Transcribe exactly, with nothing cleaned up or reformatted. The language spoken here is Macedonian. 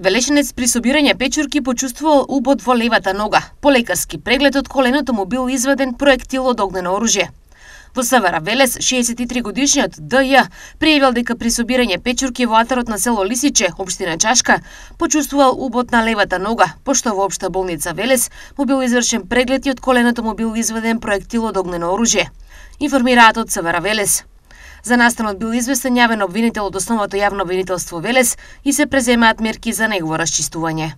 Велешенец при собирање печурки почувствувал убод во левата нога. По лекарски преглед од коленото му бил изваден проектил од огнено оружје. Во СВР Велес, шеесет и три годишниот Д Ј пријавил дека при собирање печурки во атарот на село Лисиче, општина Чашка, почувствувал убод на левата нога, пошто во општа болница Велес му бил извршен преглед и од коленото му бил изваден проектил од огнено оружје. Информираат од СВР Велес. За настанот бил известен јавен обвинител од Основното јавно обвинителство Велес и се преземаат мерки за негово расчистување.